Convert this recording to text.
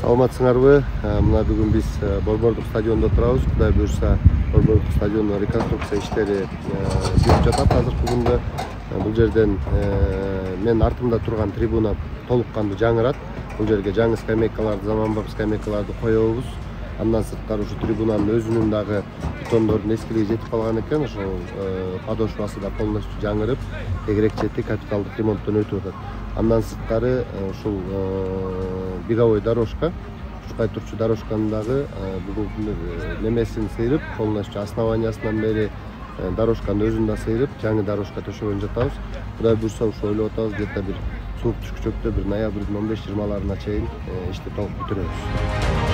Саламатсыңарбы? Мына бүгүн биз Борбордук стадиондо турабыз. Кудай буюрса, Борбордук стадиондун реконструкция иштери жүрүп жатат азыркы күндө. Бул жерден мен артымда турган трибуна толук кандуу жаңырат. Бул жерге жаңы скамейкаларды, заманбап скамейкаларды коебуз. Андан сырткары ушу трибунанын өзүнүн дагы бетондордун эскилиги жетип калган экен. Ошол подошвасы да полностью жаңырып, тегерек чети капиталдык ремонттон өтүп атат. Андан сырткары ушул беговой дорожка, ушкай турчу дорожканын дагы бүгүнкү немесин сыйрып, полностью основаниясынан бери дорожканын өзүн да сыйрып, жаңы дорожка төшөгөн жатабыз. Кудай буюрса, ушу ойлоп атабыз, где-то бир суук түшкүчөктө бир ноябрдын 15-20 чейин ишти толук бүтүрөбүз.